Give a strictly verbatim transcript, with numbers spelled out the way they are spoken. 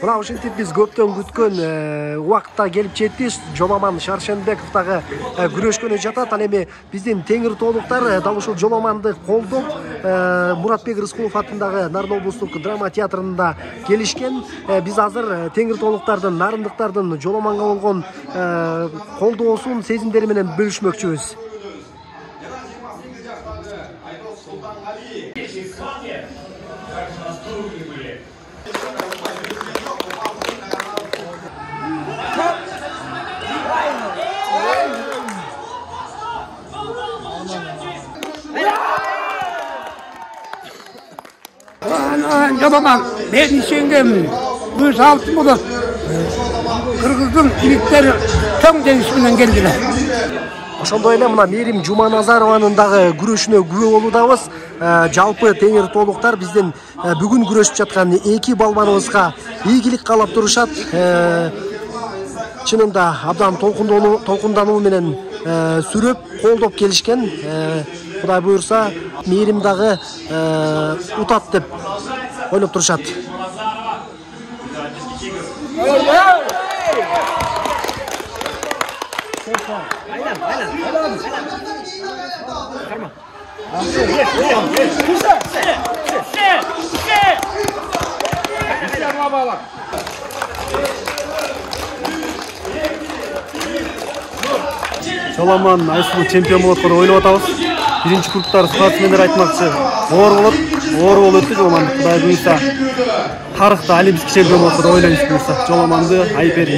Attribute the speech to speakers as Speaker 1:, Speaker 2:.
Speaker 1: Мына ушинтип биз көптөн күткөн убакытта келип жетти. Жоламан Шаршенбеков дагы күрөшкөнү жатат. Ал эми биздин теңир тоолуктар дал ушул Жоламанды колдоп Муратбек Рыскулов атындагы Нарын облустук драма театрында келишкен. Биз азыр теңир тоолуктардын, нарындыктардын Жоламанга болгон колдоосун, сезимдери менен бөлүшмөкчүбүз.
Speaker 2: Жоламан, мен ишенгенмин. Бул алтын болот. Кыргыздын жигиттери чоң жеңиш менен келдилер.
Speaker 1: Ошондой эле мына Мээрим Жуманазарованын дагы күрөшүнө күбө болуудабыз. Жалпы теңир тоолуктар биздин бүгүн күрөшүп жаткан эки балбаныбызга ийгилик каалап турушат. Чынында абдан толкундануу менен сүрөп, колдоп келишкен. Кудай буюрса, Мээрим дагы утат деп ойлоп турушат.
Speaker 3: Жоламан айсылуу чемпион болот деп ойлоп атабыз. Биринчи кругтар спортсмендер айтмакчы оор болот. Оор болуп өттү Жоламан. Кудай буюрса, тарыхта олимпийский чемпион болот деп ойлойбуз буюрса. Жоламанды Айпер